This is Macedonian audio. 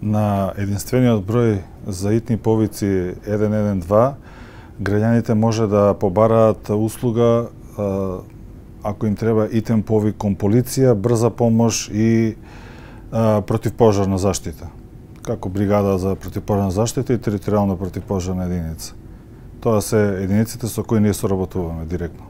На единствениот број за итни повици 112 граѓаните може да побараат услуга ако им треба итен повик кон полиција, брза помош и противпожарна заштита, како бригада за противпожарна заштита и територијална противпожарна единица. Тоа се единиците со кои ние соработуваме директно.